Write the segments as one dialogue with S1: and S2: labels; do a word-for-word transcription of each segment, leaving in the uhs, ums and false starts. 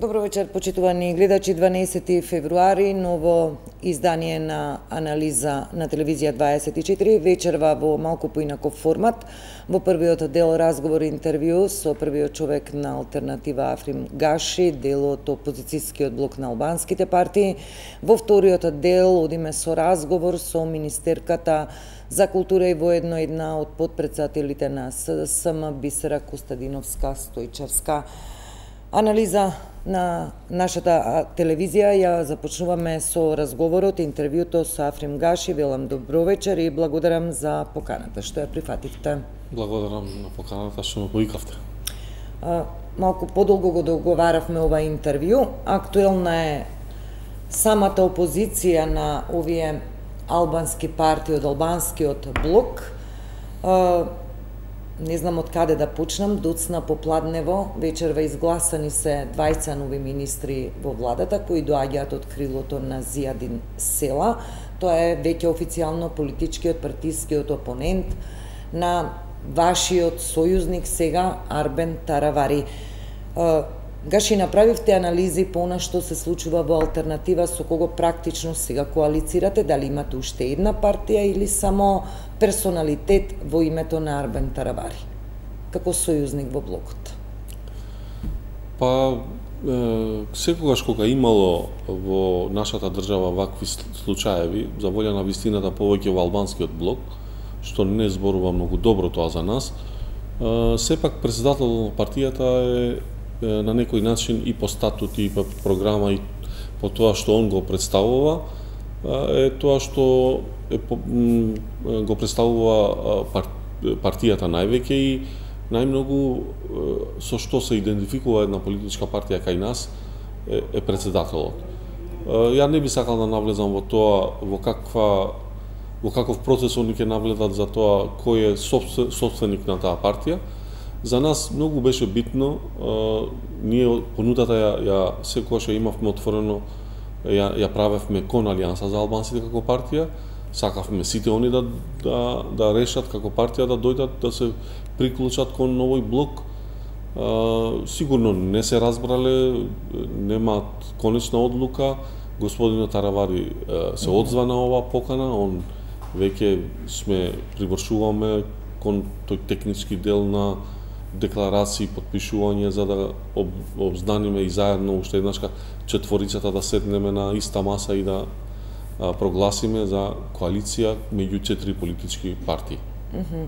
S1: Добро вечер, почитувани гледачи. дванаесети февруари, ново издание на анализа на телевизија дваесет и четири, вечерва во малку поинаков формат. Во првиот дел разговор и интервју со првиот човек на алтернатива Африм Гаши, дел од опозицијскиот блок на албанските партии. Во вториот дел одиме со разговор со министерката за култура и воедно една од подпредседателите на СДСМ Бисера Костадиновска Стојчевска. Анализа на нашата телевизија ја започнуваме со разговорот, интервјуто со Африм Гаши. Велам добро вечер и благодарам за поканата што ја прифативте.
S2: Благодарам на поканата што ме повикавте.
S1: Малку подолго го договаравме ова интервју. Актуелна е самата опозиција на овие албански партии од албанскиот блок. Не знам од каде да почнам, доцна попладнево, вечерва изгласани се двајца нови министри во владата кои доаѓаат од крилото на Зијадин Села. Тоа е веќе официјално политичкиот партискиот опонент на вашиот сојузник сега Арбен Таравари. Гаши, направивте анализи по она што се случува во алтернатива, со кого практично сега коалицирате, дали имате уште една партија или само персоналитет во името на Арбен Таравари, како сојузник во блокот?
S2: Па, е, секогаш кога имало во нашата држава вакви случаеви, за волја на вистината повеќе во албанскиот блок, што не зборува многу добро тоа за нас, е, сепак председател на партијата е на некој начин и по статут и по програма и по тоа што он го представува, е тоа што е, го представува партијата највеќе и најмногу со што се идентификува една политичка партија кај нас е, е председателот. Ја не би сакал да навлезам во тоа во каква во каков процес они ќе навлезат за тоа кој е собственик на таа партија. За нас многу беше битно, а, ние понудата ја, ја секогаш ја имавме отворено, ја, ја правевме кон Алијанса за албанците како партија, сакавме сите они да, да, да решат како партија да дојдат да се приклучат кон новој блок. А, сигурно не се разбрале, немаат конечна одлука, господинот Таравари а, се одзва на оваа покана, он веќе сме привршуваме кон тој технички дел на декларации, подпишување за да об, обзнаниме и заедно уште еднашка четворицата да седнеме на иста маса и да а, прогласиме за коалиција меѓу четири политички партии.
S1: Mm -hmm.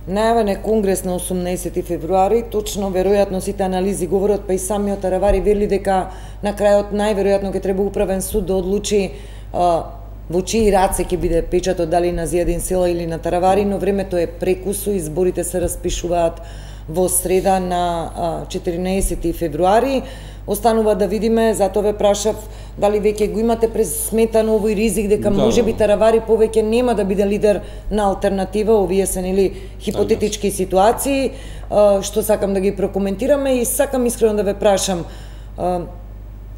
S1: Најавен е конгрес на осумнаесети февруари, точно веројатно сите анализи говорат, па и самиот Таравари вели дека на крајот најверојатно ќе треба управен суд да одлучи а, во чии раце ќе биде печатот, дали на Зијадин Села или на Таравари, но времето е прекусо, изборите се распишуваат во среда на четиринаесети февруари. Останува да видиме, затоа ве прашав дали веќе го имате пресметано овој ризик дека да, можеби Таравари повеќе нема да биде лидер на алтернатива. Овие се нели хипотетички ситуации што сакам да ги прокоментираме и сакам искрено да ве прашам,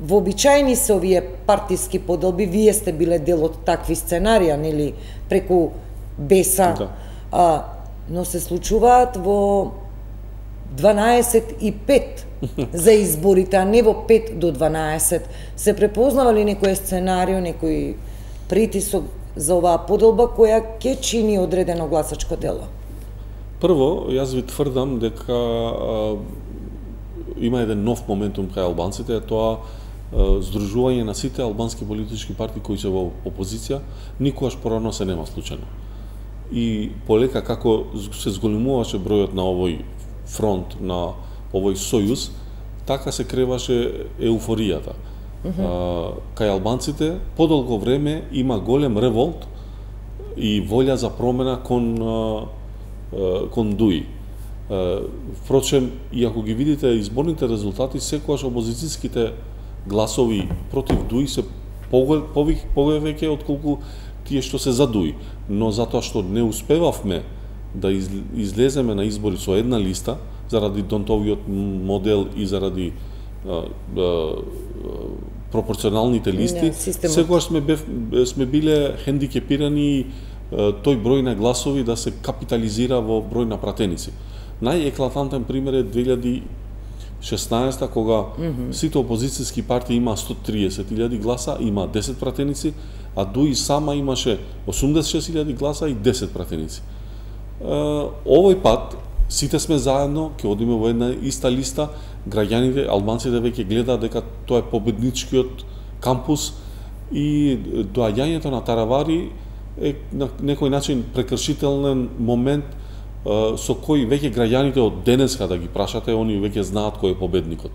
S1: вообичаени се овие партиски поделби, вие сте биле дел од такви сценарија, нели, преку Беса, да. а, но се случуваат во дванаесет и пет за изборите, а не во пет до дванаесет. Се препознава ли некој сценарио, некој притисок за оваа поделба која ќе чини одредено гласачко дело?
S2: Прво, јас ви тврдам дека а, има еден нов моментум кај албанците, тоа здружување на сите албански политички партии кои се во опозиција, никогаш порано се нема случајно. И полека како се зголемуваше бројот на овој фронт, на овој сојуз, така се креваше еуфоријата. Mm -hmm. а, кај албанците подолго време има голем револт и волја за промена кон, а, а, кон Дуи. Впрочем, и ако ги видите изборните резултати, секогаш опозицијските гласови против Дуи се повеќе отколку тие што се за Дуи. Но затоа што не успевавме да излеземе на избори со една листа, заради донтовиот модел и заради а, а, пропорционалните листи, yeah, секогаш сме, бев, сме биле хендикепирани тој број на гласови да се капитализира во број на пратеници. Најеклатантен пример е две илјади шеснаесетта кога mm -hmm. сите опозицијски партии има сто триесет илјади гласа, има десет пратеници, а ДУИ сама имаше осумдесет и шест илјади гласа и десет пратеници. Овој пат сите сме заедно, ќе одиме во една иста листа, граѓаните, албанците веќе гледаат дека тоа е победничкиот кампус и доаѓањето на Таравари е на некој начин прекршителен момент со кој веќе граѓаните од денеска да ги прашате, они веќе знаат кој е победникот.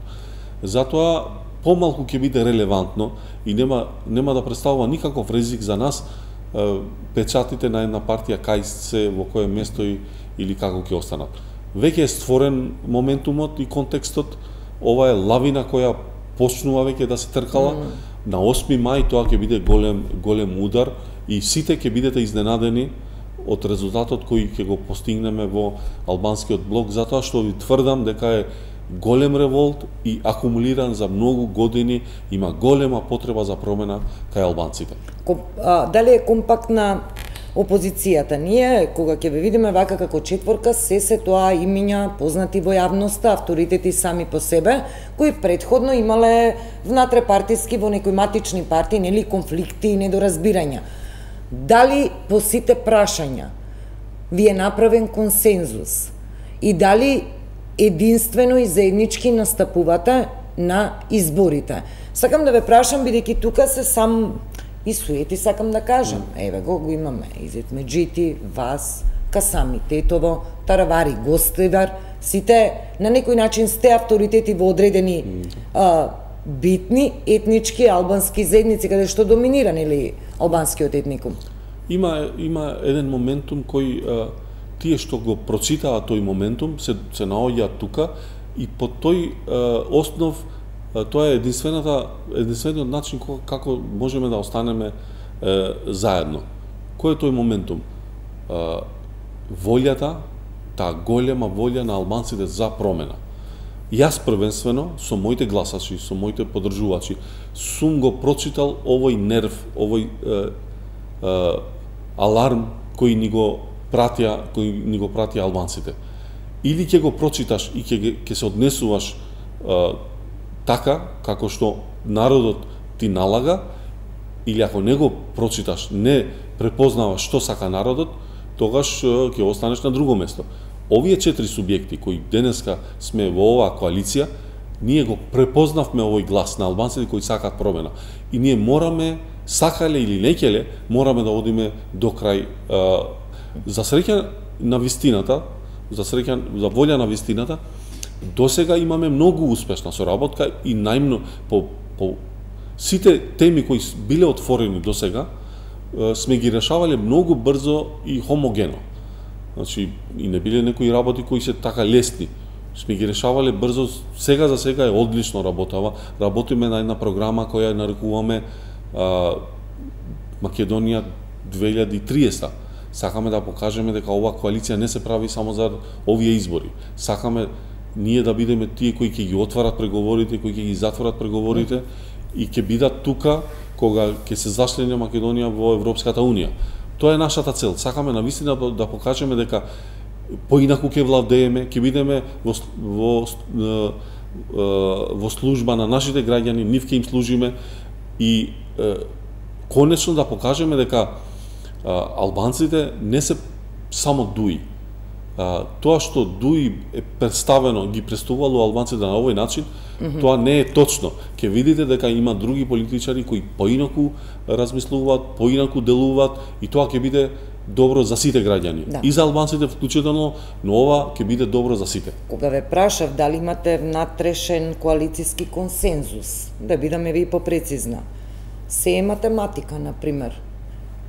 S2: Затоа помалку ќе биде релевантно и нема нема да представува никаков ризик за нас печатите на една партија кај се, во кое место и, или како ќе останат. Веќе е створен моментумот и контекстот, ова е лавина која почнува веќе да се тркала. Mm. На осми мај тоа ќе биде голем голем удар и сите ќе бидете изненадени од резултатот кој ќе го постигнеме во албанскиот блок, затоа што ви тврдам дека е голем револт и акумулиран за многу години, има голема потреба за промена кај албанците.
S1: Ком, а, дали е компактна опозицијата? Ние, кога ќе ве видиме вака како четворка, се се тоа имиња познати во јавноста, авторитети сами по себе, кои предходно имале внатре партиски во некои матични партии, нели конфликти и недоразбирања. Дали по сите прашања ви е направен консензус и дали единствено и заеднички настапувате на изборите? Сакам да ве прашам, бидејќи тука се сам и суети, сакам да кажам. Еве го, го имаме Изет Меджити, вас, Касами Тетово, Таравари Гостевар, сите на некој начин сте авторитети во одредени а, битни етнички албански заедници каде што доминира нели албанскиот етникум.
S2: Има има еден моментум кој а, тие што го прочитаат тој моментум се се наоѓаат тука и по тој а, основ а, тоа е единствената единствениот начин како можеме да останеме а, заедно. Кој е тој моментум? А, волјата, таа голема волја на албанците за промена. Јас првенствено со моите гласачи, со моите поддржувачи, сум го прочитал овој нерв, овој е, е, аларм кој ни го пратија, кој ни го пратија албанците. Или ќе го прочиташ и ќе ќе се однесуваш е, така како што народот ти налага, или ако не го прочиташ, не препознаваш што сака народот, тогаш е, ќе останеш на друго место. Овие четири субјекти кои денеска сме во оваа коалиција, ние го препознавме овој глас на албанците кои сакаат промена. И ние мораме, сакале или некеле, мораме да одиме до крај. За среќа на вистината, за среќа, за волја на вистината, досега имаме многу успешна соработка и најмно по, по сите теми кои биле отворени досега, сме ги решавале многу брзо и хомогено. Значи, и не биле некои работи кои се така лесни. Сме ги решавале брзо, сега за сега е одлично работава. Работиме на една програма која нарекуваме а, Македонија две илјади и триесетта. Сакаме да покажеме дека оваа коалиција не се прави само за овие избори. Сакаме ние да бидеме тие кои ќе ги отварат преговорите, кои ќе ги затворат преговорите и ќе бидат тука кога ќе се зачлени Македонија во Европската унија. Тоа е нашата цел. Сакаме навистина да покажеме дека поинаку ќе владееме, ќе бидеме во, во, во служба на нашите граѓани, нив ќе им служиме и е, конечно да покажеме дека е, албанците не се само ДУИ. А, тоа што ДУИ е представено, ги представувало албанците на овој начин, mm -hmm. тоа не е точно. Ќе видите дека има други политичари кои поинаку размислуваат, поинаку делуваат и тоа ќе биде добро за сите граѓани. Да. И за албанците вклучително, но ова ќе биде добро за сите.
S1: Кога ве прашав дали имате внатрешен коалициски консензус, да бидаме ви попрецизна, се е математика, например,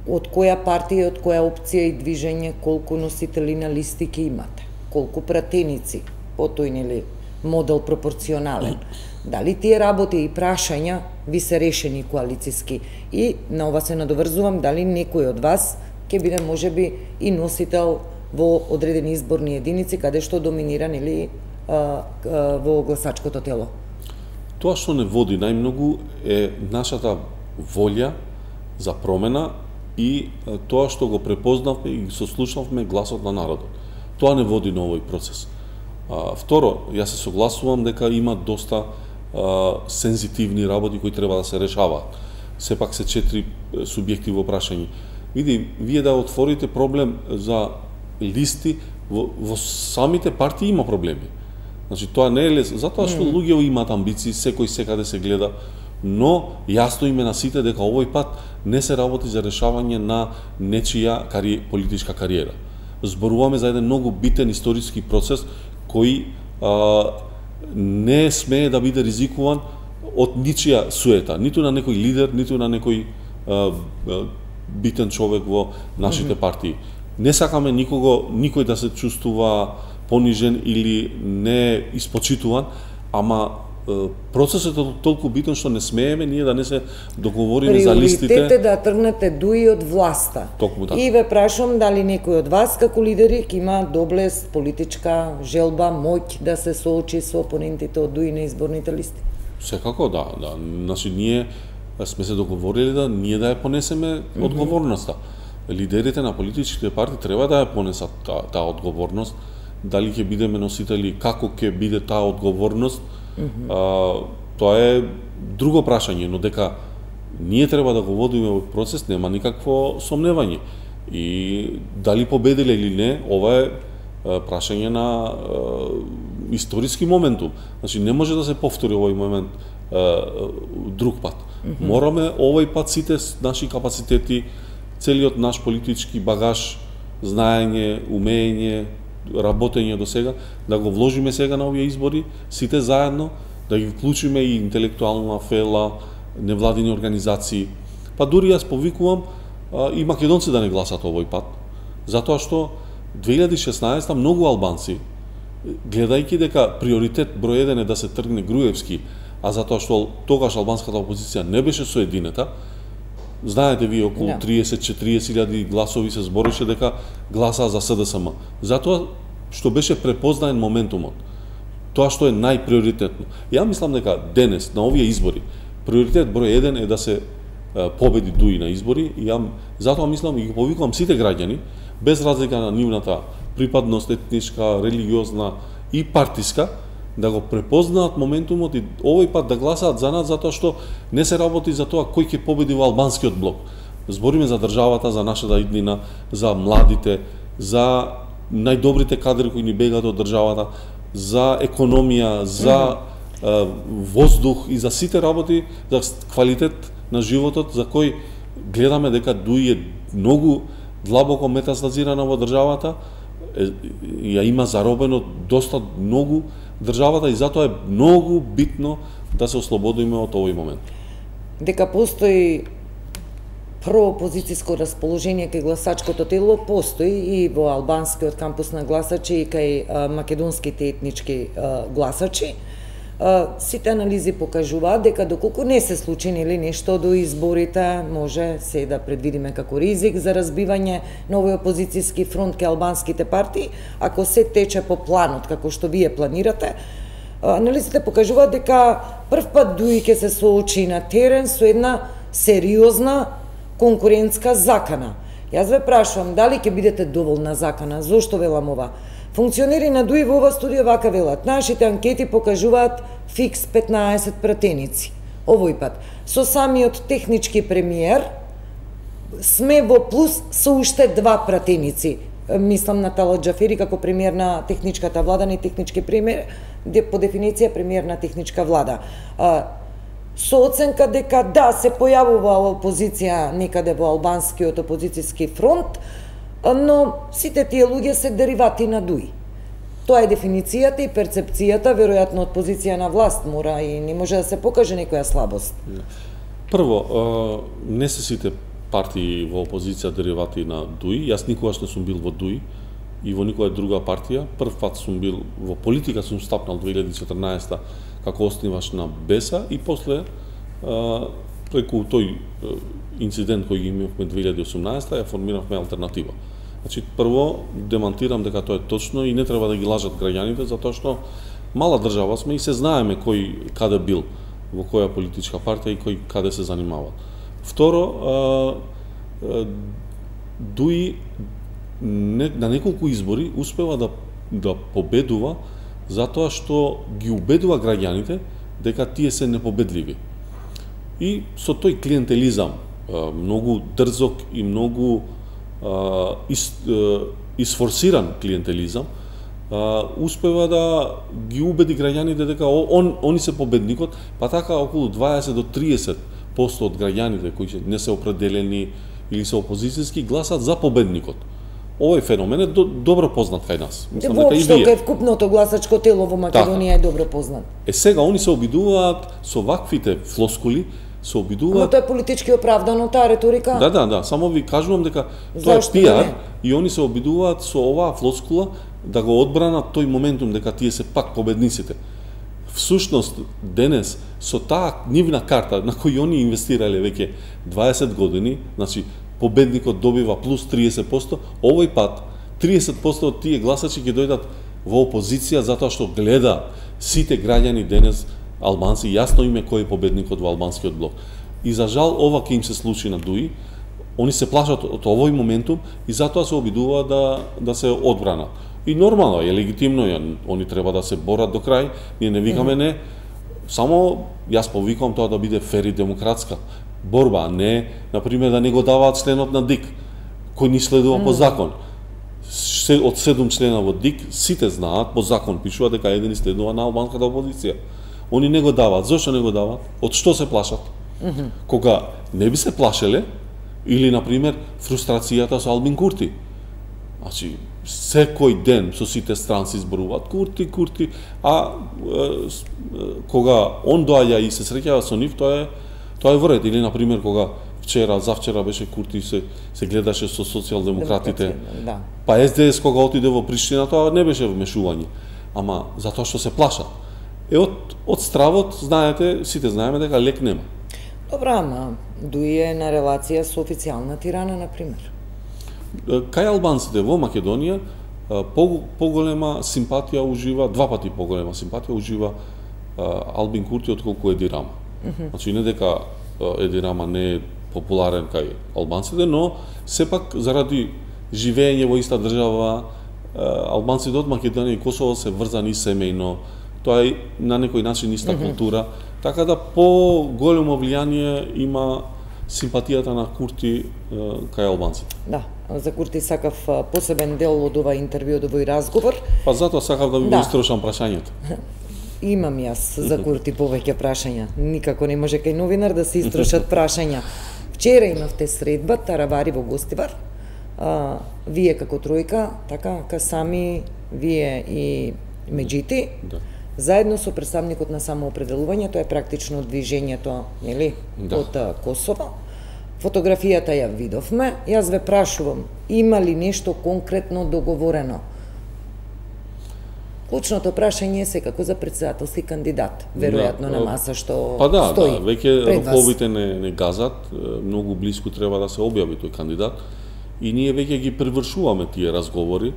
S1: од која партија, од која опција и движење, колку носители на листи ќе имате, колку пратеници, по тој нели модел пропорционален. Дали тие работи и прашања ви се решени коалициски? И на ова се надоврзувам, дали некој од вас ќе биде можеби и носител во одредени изборни единици каде што доминира нели а, а, во гласачкото тело?
S2: Тоа што не води најмногу е нашата волја за промена и тоа што го препознавме и сослушавме гласот на народот. Тоа не води на овој процес. А, второ, јас се согласувам дека има доста а, сензитивни работи кои треба да се решаваат. Сепак се четири субјекти во прашање. Види, вие да отворите проблем за листи, во, во самите партии има проблеми. Значи, тоа не е лесно, затоа што mm. луѓе имаат амбиции, секој секаде се гледа, но јасно име на сите дека овој пат не се работи за решавање на нечија кари, политичка кариера. Зборуваме за еден многу битен историски процес кој а, не смее да биде ризикуван од ничија суета, ниту на некој лидер, ниту на некој а, а, битен човек во нашите mm-hmm. партии. Не сакаме никого, никој да се чувствува понижен или не испочитуван, ама процесот е толку битен што не смееме ние да не се договориме за листите.
S1: Приоритет е да тргнете дуи од власта.
S2: Токму така.
S1: И ве прашувам дали некој од вас како лидери ќе има доблест, политичка желба, моќ да се соочи со опонентите од дуи на изборните листи.
S2: Секако да, да. Значи ние сме се договорили да ние да ја понесеме mm-hmm. одговорноста. Лидерите на политичките партии треба да ја понесат таа та одговорност. Дали ќе бидеме носители, како ќе биде таа одговорност, mm-hmm. а, тоа е друго прашање, но дека ние треба да го водиме овој процес, нема никакво сомневање. И дали победиле или не, ова е а, прашање на а, историски моментум. Значи не може да се повтори овој момент а, друг пат. Mm-hmm. Мораме овој пат сите наши капацитети, целиот наш политички багаж, знаење, умење, работење до сега, да го вложиме сега на овие избори, сите заедно, да ги вклучиме и интелектуална фела, невладини организации. Па дури јас повикувам а, и македонци да не гласат овој пат, затоа што две илјади и шеснаесета многу албанци, гледајќи дека приоритет број еден е да се тргне Груевски, а затоа што тогаш албанската опозиција не беше соединета, знаете вие околу no. триесет до четириесет илјади гласови се збореше дека гласаа за С Д С М. Затоа што беше препознаен моментумот. Тоа што е најприоритетно. Ја мислам дека денес на овие избори приоритет број еден е да се е, победи дуи на избори и ја затоа мислам и ги повикувам сите граѓани без разлика на нивната припадност етничка, религиозна и партиска да го препознаат моментумот и овој пат да гласаат за нас затоа што не се работи за тоа кој ќе победи во албанскиот блок. Збориме за државата, за нашата иднина, за младите, за најдобрите кадри кои ни бегаат од државата, за економија, за mm-hmm. е, воздух и за сите работи, за квалитет на животот за кој гледаме дека дуи е многу длабоко метастазирана во државата, е, ја има заробено доста многу државата и затоа е многу битно да се ослободиме од овој момент.
S1: Дека постои проопозицијско расположение кај гласачкото тело, постои и во албанскиот кампус на гласачи и кај а, македонските етнички а, гласачи. А, сите анализи покажуваат дека доколку не се случи нели нешто до изборите, може се да предвидиме како ризик за разбивање на овој опозицијски фронт кај албанските партии, ако се тече по планот како што вие планирате. Анализите покажуваат дека прв пат дуи ќе се соочи на терен со една сериозна конкурентска закана. Јас ве прашувам дали ќе бидете доволна закана, зошто велам ова? Функционери на дуи во ова студија вака велат, нашите анкети покажуваат фикс петнаесет пратеници. Овој пат, со самиот технички премиер, сме во плюс со уште два пратеници. Мислам на Талат Џафери како премиер на техничката влада, не технички премиер, по дефиниција премиер на техничка влада. Со оценка дека да, се појавува опозиција некаде во албанскиот опозицијски фронт, но сите тие луѓе се деривати на дуи. Тоа е дефиницијата и перцепцијата, веројатно од позиција на власт мора и не може да се покаже некоја слабост.
S2: Прво, не се сите партии во опозиција деривати на дуи. Јас никогаш не сум бил во дуи и во никоја друга партија. Прв пат сум бил во политика, сум стапнал две илјади и четрнаесета како основаш на Беса и после преку тој инцидент кој ги имавме две илјади и осумнаесета ја формиравме алтернатива. Значи, прво демантирам дека тоа е точно и не треба да ги лажат граѓаните, затоа што мала држава сме и се знаеме кој каде бил, во која политичка партија и кој каде се занимава. Второ, а, а, дуи не, на неколку избори успева да, да победува затоа што ги убедува граѓаните дека тие се непобедливи. И со тој клиентелизам, многу дрзок и многу ис, исфорсиран клиентелизам, успева да ги убеди граѓаните дека он, они се победникот, па така околу дваесет до триесет посто од граѓаните кои не се определени или се опозицијски гласат за победникот. Овој феномен е до, добро познат кај нас.
S1: Мислам дека и вие. Кај вкупното гласачко тело во Македонија така е добро познат.
S2: Е сега они се обидуваат со ваквите флоскули, се обидуваат.
S1: Но тоа е политички оправдано таа реторика.
S2: Да, да, да, само ви кажувам дека тоа е пиар и они се обидуваат со оваа флоскула да го одбранат тој моментум дека тие се пак победниците. Всушност денес со таа нивна карта на кој они инвестирале веќе дваесет години, значи победникот добива плюс триесет посто, овој пат триесет посто од тие гласачи ќе дојдат во опозиција затоа што гледа сите граѓани денес албанци јасно име кој е победникот во албанскиот блок. И за жал ова ќе им се случи на ДУИ. Они се плашат од овој моментум и затоа се обидуваат да да се одбранат. И нормално е, легитимно е, они треба да се борат до крај, ние не викаме не, само јас повикувам тоа да биде фер и демократска борба, а не, например, да не го даваат членот на ДИК, кој ни следува mm. по закон. Од седум члена во ДИК, сите знаат, по закон пишува дека еден следува на албанската опозиција. Они не го даваат. Зошто не го даваат? Од што се плашат? Mm -hmm. Кога не би се плашеле, или, например, фрустрацијата со Албин Курти. Значи, секој ден со сите странци зборуваат Курти, Курти, а е, кога он доаѓа и се среќава со нив, тоа е тоа е вред. Или, например, кога вчера, завчера беше Курти се се гледаше со социјалдемократите. Да. Па Ес Де Ес кога отиде во Приштина, тоа не беше вмешување. Ама затоа што се плашат. Е од од стравот, знаете, сите знаеме дека лек нема.
S1: Добра, ама ДУИ е на релација со официјална Тирана, например.
S2: Кај албанците во Македонија поголема симпатија ужива, два пати поголема симпатија ужива Албин Курти отколку Еди Рама. Mm -hmm. Значи не дека Еди Рама не е популарен кај албанците, но сепак заради живење во иста држава, албанците од Македонија и Косово се врзани семејно, тоа е на некој начин иста mm -hmm. култура, така да по големо влијание има симпатијата на Курти кај албанците.
S1: Да, за Курти сакав посебен дел од ова интервју, од овој разговор.
S2: Па затоа сакав да ви да. го истрошам прашањето.
S1: Имам јас за Курти повеќе прашања. Никако не може кај новинар да се истрошат прашања. Вчера имавте средба, Таравари во Гостивар. А, вие како тројка, така, Касами, вие и Меджити, да. Заедно со представникот на самоопределување, тоа е практично движењето, нели, да. од Косово. Фотографијата ја видовме. Јас ве прашувам, има ли нешто конкретно договорено? Клучното прашање е секако за председателски кандидат, веројатно да, на маса што
S2: па да,
S1: стои.
S2: Да, веќе роковите не, не газат, многу близко треба да се објави тој кандидат и ние веќе ги превршуваме тие разговори.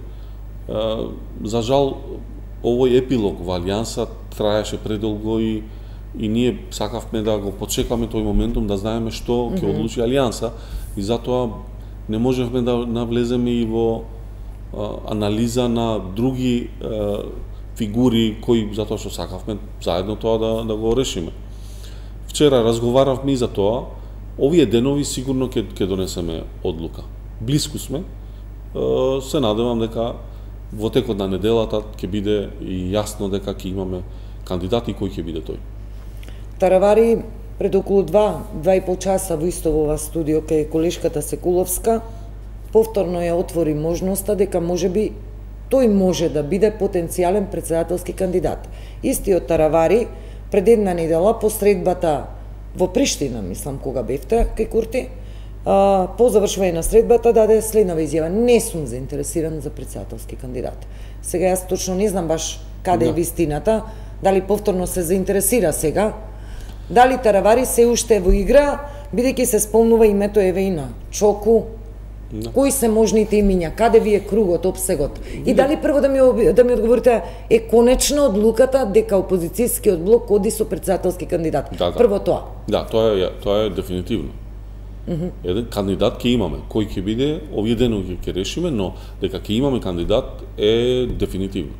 S2: За жал, овој епилог во Алијанса траеше предолго и и ние сакавме да го почекаме тој моментум, да знаеме што ќе mm -hmm. одлучи Алијанса и затоа не можевме да навлеземе и во а, анализа на други а, фигури кои затоа што сакавме заедно тоа да, да го решиме. Вчера разговаравме и за тоа, овие денови сигурно ќе ќе донесеме одлука. Блиску сме, а, се надевам дека во текот на неделата ќе биде и јасно дека ќе имаме кандидат и кој ќе биде тој.
S1: Таравари пред околу два, два и пол часа во исто во ова студио кај колешката Секуловска повторно ја отвори можноста дека можеби тој може да биде потенцијален председателски кандидат. Истиот Таравари пред една недела по средбата во Приштина, мислам кога бевте кај Курти, а, по завршување на средбата даде следнава изјава: не сум заинтересиран за председателски кандидат. Сега јас точно не знам баш каде да. е вистината, дали повторно се заинтересира сега, дали Таравари се уште е во игра, бидејќи се спомнува името еве и на Чоку. Да. Кои се можните имиња? Каде ви е кругот, опсегот? И дали прво да ми да ми одговорите е конечна одлуката дека опозицијскиот блок оди со председателски кандидат? Да, да. Прво тоа.
S2: Да, тоа е тоа е дефинитивно. Mm -hmm. Еден кандидат ќе имаме, кој ќе биде, овие денови ќе решиме, но дека ќе имаме кандидат е дефинитивно.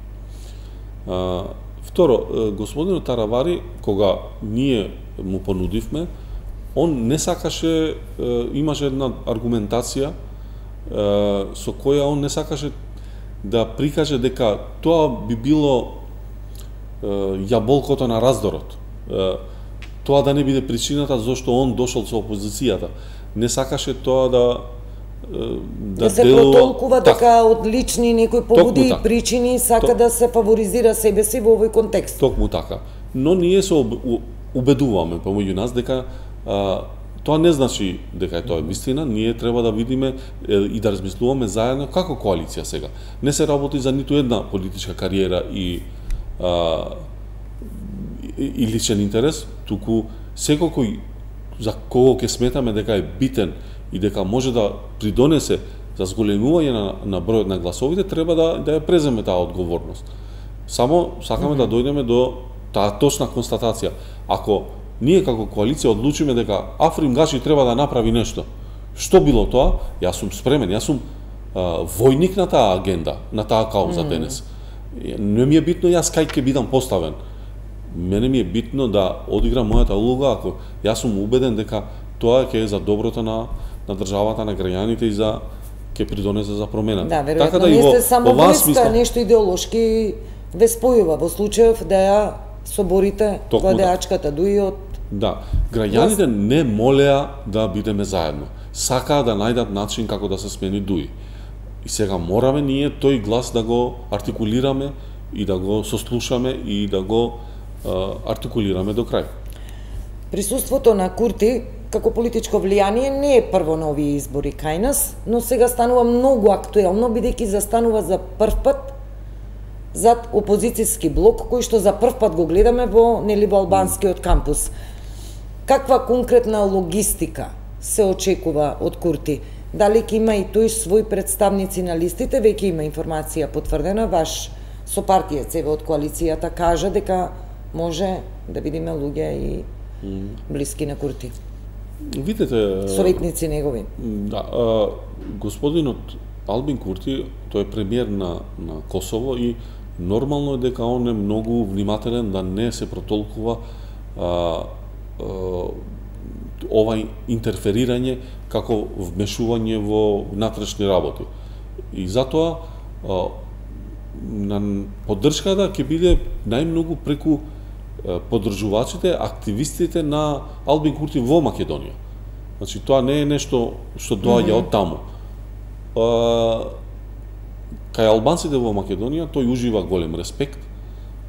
S2: Второ, господинот Таравари, кога ние му понудивме, он не сакаше, имаше една аргументација со која он не сакаше да прикаже дека тоа би било јаболкото на раздорот. Тоа да не биде причината зашто он дошол со опозицијата. Не сакаше тоа да
S1: да, да се делува... протолкува така, дека од лични некои поводи и причини сака Ток... да се фаворизира себе си во овој контекст.
S2: Токму така. Но ние се убедуваме помеѓу нас дека а, тоа не значи дека е тоа вистина, ние треба да видиме е, и да размислуваме заедно како коалиција сега. Не се работи за ниту една политичка кариера и а, и, и личен интерес, туку секој кој за кого ќе сметаме дека е битен и дека може да придонесе за зголемување на, на бројот на гласовите, треба да, да ја преземе таа одговорност. Само сакаме mm -hmm. да дојдеме до таа точна констатација. Ако ние како коалиција одлучиме дека Африм Гачи треба да направи нешто, што било тоа, јас сум спремен, јас сум а, војник на таа агенда, на таа кауза mm -hmm. денес. Не ми е битно јас кај ќе бидам поставен. Мене ми е битно да одиграм мојата улога, ако јас сум убеден дека тоа ќе е за доброто на на државата, на граѓаните и за ќе придонесе за промена.
S1: Да, веројатно така да не сте само војска, нешто идеолошки ве спојува во случајов да ја соборите владеачката дуи од...
S2: Да, граѓаните не молеа да бидеме заедно. Сакаа да најдат начин како да се смени дуи. И сега мораме ние тој глас да го артикулираме и да го сослушаме и да го а, артикулираме до крај.
S1: Присуството на Курти како политичко влијание не е прво на овие избори кај нас, но сега станува многу актуелно, бидејќи застанува за прв пат зад опозицијски блок, кој што за прв пат го гледаме во нели во албанскиот кампус. Каква конкретна логистика се очекува од Курти? Дали ќе има и тој свој представници на листите? Веќе има информација потврдена, ваш сопартиец еве од коалицијата кажа дека може да видиме луѓе и блиски на Курти.
S2: Видете,
S1: советници негови.
S2: Да, а, господинот Албин Курти, тој е премиер на на Косово и нормално е дека он е многу внимателен да не се протолкува а, а, ова интерферирање како вмешување во внатрешни работи. И затоа а, на поддршката ќе биде најмногу преку поддржувачите, активистите на Албин Курти во Македонија. Значи тоа не е нешто што доаѓа mm -hmm. од таму. А, кај албанците во Македонија тој ужива голем респект.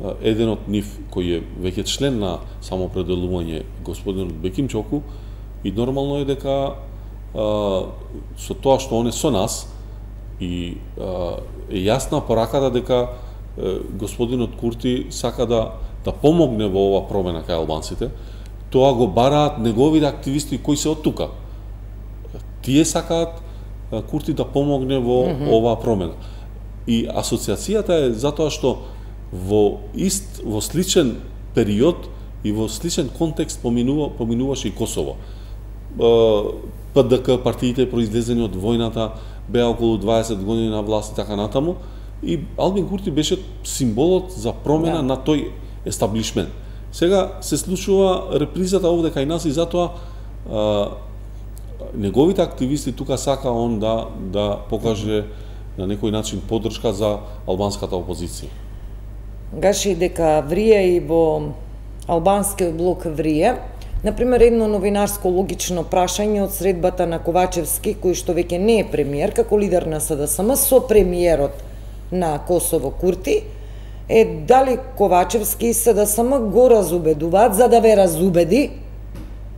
S2: А, еден од нив кој е веќе член на самоопределување, господинот Беким Чоку, и нормално е дека а, со тоа што он е со нас и а, е јасна пораката дека а, господинот Курти сака да да помогне во ова промена кај албанците, тоа го бараат неговите активисти кои се од тука. Тие сакаат Курти да помогне во mm -hmm. оваа промена. И асоциацијата е затоа што во ист, во сличен период и во сличен контекст поминува, поминуваше и Косово. П Д К, партиите произлезени од војната, беа околу дваесет години на власт и така натаму, и Албин Курти беше символот за промена yeah. на тој естаблишмент. Сега се случува репризата овде кај нас и затоа а, неговите активисти тука сака он да да покаже на некој начин поддршка за албанската опозиција.
S1: Гаши дека врие и во албанскиот блок врие. Например, едно новинарско логично прашање од средбата на Ковачевски, кој што веќе не е премиер, како лидер на С Д С М, со премиерот на Косово Курти, е дали Ковачевски и С Д С М го разубедуваат за да ве разубеди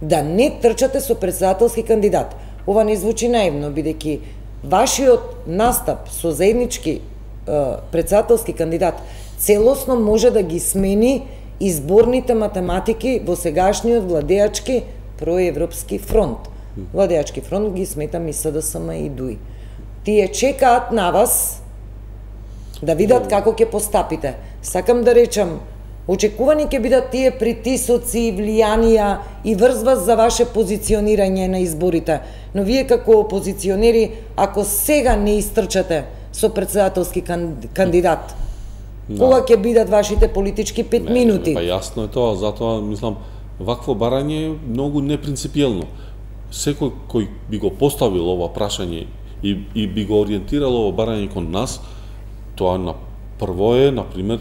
S1: да не трчате со председателски кандидат. Ова не звучи наивно, бидејќи вашиот настап со заеднички е, председателски кандидат целосно може да ги смени изборните математики во сегашниот владеачки проевропски фронт. Владеачки фронт ги сметам и С Д С М и ДУИ. Тие чекаат на вас да видат како ќе постапите. Сакам да речам, очекувани ќе бидат тие притисоци, влијанија и врз за ваше позиционирање на изборите. Но вие како опозиционери, ако сега не истрчате со председателски кандидат, Кога ќе бидат вашите политички пет
S2: не,
S1: минути?
S2: Не, па јасно е тоа, затоа мислам вакво барање е многу непринципиелно. Секој кој би го поставил ова прашање и, и би го ориентирал ова барање кон нас, тоа на прво е, на пример,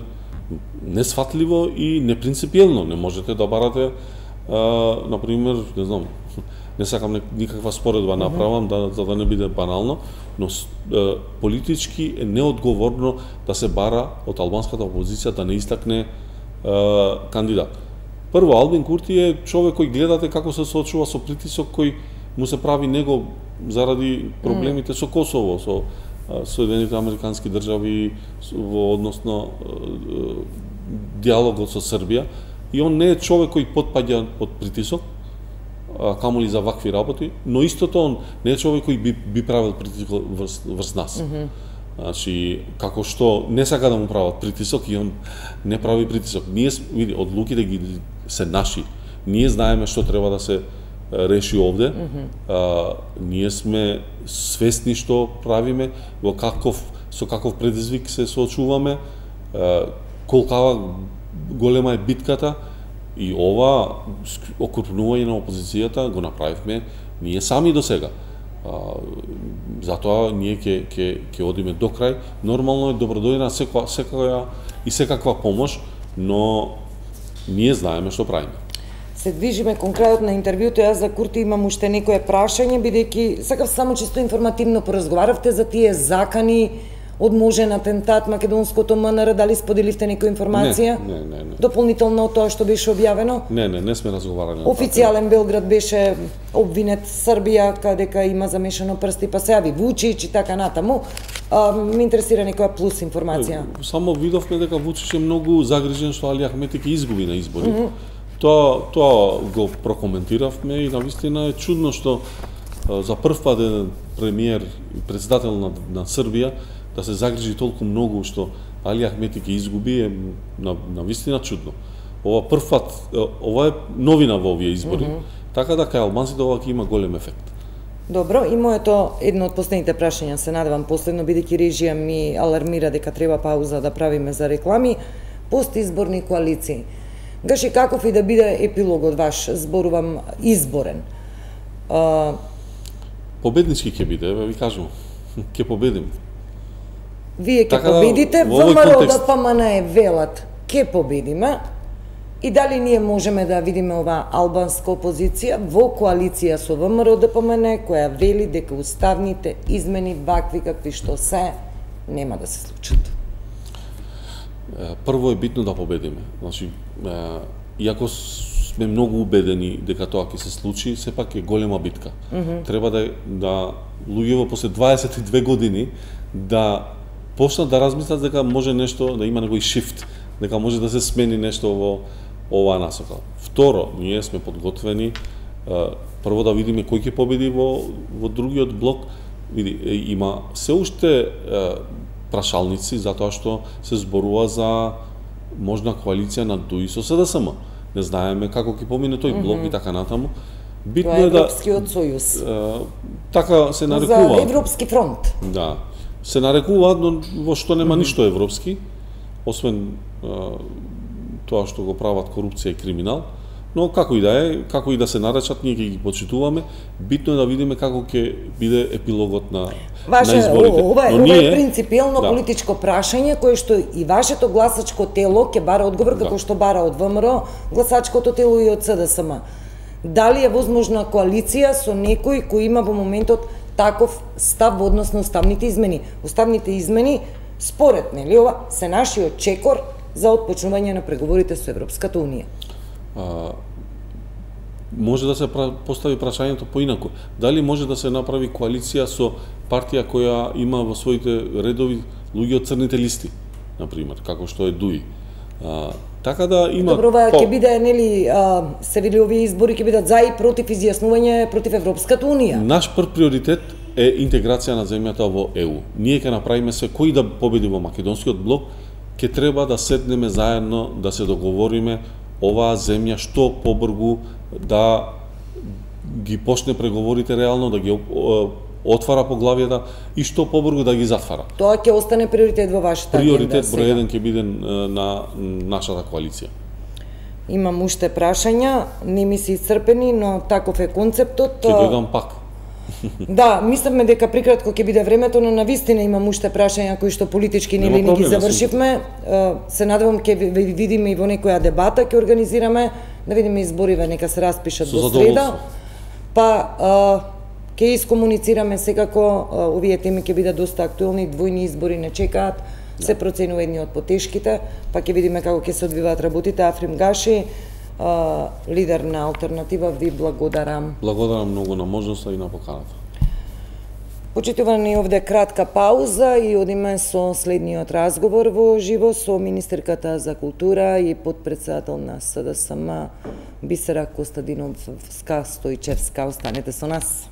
S2: несфатливо и непринципиелно. Не можете да барате, а, на пример, не знам, не сакам никаква споредба направам, да, за да не биде банално, но а, политички е неодговорно да се бара од албанската опозиција да не истакне а, кандидат. Прво, Албин Курти е човек кој гледате како се соочува со притисок кој му се прави него заради проблемите со Косово, со Соединените Американски држави во односно диалогот со Србија, и он не е човек кој потпаѓа под притисок, камоли за вакви работи, но истото он не е човек кој би, би правил притисок врз, врз нас. Mm -hmm. Значи, како што не сака да му прават притисок и он не прави притисок. Ние, види, одлуките ги се наши. Ние знаеме што треба да се реши овде. Mm -hmm. а, ние сме свесни што правиме, во каков, со каков предизвик се соочуваме, а, колкава голема е битката, и ова окрупнување на опозицијата го направивме ние сами до сега. А, затоа ние ќе ќе ќе одиме до крај. Нормално е добродојна секоја секоја и секаква помош, но ние знаеме што правиме.
S1: Се движиме кон крајот на интервјуто. Јас за Курти имам уште некое прашање, бидејќи сакав само чисто информативно поразговаравте за тие закани од можен атентат македонското МНР, дали споделивте некоја информација?
S2: Не, не, не, не.
S1: Дополнително од тоа што беше објавено?
S2: Не, не, не сме разговарали.
S1: Официјален Белград беше обвинет Србија, кадека има замешано прсти, па се јави Вучич и така натаму. А, ме интересира некоја плюс информација.
S2: Само видовме дека Вучич е многу загрижен што Али Ахмети ќе изгуби на избори. Mm -hmm. Тоа, тоа го прокоментиравме и навистина е чудно што за прв пат е премиер и председател на, на Србија да се загрижи толку многу што Али Ахмети ќе изгуби е на, на вистина чудно. Ова прв пат, ова е новина во овие избори, mm -hmm. така да кај албанците ова ќе има голем ефект.
S1: Добро, и моето едно од последните прашања, се надевам последно, бидејќи режија ми алармира дека треба пауза да правиме за реклами, постизборни коалиции. Гаши, каков и да биде епилогот ваш, зборувам изборен? А...
S2: Победнички ќе биде, ви кажувам. Ќе победим.
S1: Вие ќе така победите, да, ВМРО контекст... да ПМН велат, ќе победиме, и дали ние можеме да видиме ова албанска опозиција во коалиција со ВМРО да ПМН, која вели дека уставните измени вакви какви што се, нема да се случат?
S2: Прво е битно да победиме. Значи, иако сме многу убедени дека тоа ќе се случи, сепак е голема битка. Mm -hmm. Треба да да луѓето после дваесет и две години да почнат да размислат дека може нешто да има некој шифт, дека може да се смени нешто во оваа насока. Второ, ние сме подготвени прво да видиме кој ќе победи во во другиот блок. Види, има се уште прашалници затоа што се зборува за можна коалиција на ДУИ со СДСМ. Не знаеме како ќе помине тој блок mm -hmm. и така натаму.
S1: Битно е да Европскиот сојуз.
S2: Е, така се нарекува.
S1: За Европски фронт.
S2: Да. Се нарекува, но во што нема mm -hmm. ништо европски, освен е, тоа што го прават корупција и криминал. Но како и да е, како и да се наречат, ние ќе ги почитуваме. Битно е да видиме како ќе биде епилогот на,
S1: Ваше,
S2: на изборите.
S1: Ова е, ова е принципиелно да. политичко прашање, кое што и вашето гласачко тело ќе бара одговор, како да. што бара од ВМРО, гласачкото тело и од СДСМ. Дали е возможна коалиција со некој кој има во моментот таков став во однос на уставните измени? Уставните измени, според нели ова, се нашиот чекор за отпочнување на преговорите со Европската Унија.
S2: А, може да се постави прашањето поинаку. Дали може да се направи коалиција со партија која има во своите редови луѓе од црните листи, на пример, како што е ДУИ. А, така да има
S1: Добро, ова ќе биде нели а, се вели овие избори ќе бидат за и против изјаснување против Европската Унија.
S2: Наш прв приоритет е интеграција на земјата во Е У. Ние ќе направиме се кој да победи во македонскиот блок, ќе треба да седнеме заедно да се договориме оваа земја што побргу да ги почне преговорите реално, да ги отвара поглавијата и што побрзо да ги затвара.
S1: Тоа ќе остане приоритет во вашата агенда.
S2: Приоритет број еден ќе биде на нашата коалиција.
S1: Имам уште прашања, не ми се исцрпени, но таков е концептот.
S2: Ќе дојдам пак.
S1: Да, мислевме дека прикратко ќе биде времето, но навистина имам уште прашања кои што политички нели не ги завршивме. Се надевам ќе видиме и во некоја дебата ќе организираме, да видиме избориве нека се распишат во среда. Па ќе искомуницираме секако, овие теми ќе бидат доста актуелни, двојни избори не чекаат. Се проценува едни од потешките, па ќе видиме како ќе се одвиваат работите. Африм Гаши, лидер на Алтернатива, ви благодарам.
S2: Благодарам многу на можноста и на поканата.
S1: Почитувани, овде кратка пауза и одиме со следниот разговор во живо со министерката за култура и потпредседател на С Д С М Бисера Костадиновска Стојчевска. Останете со нас.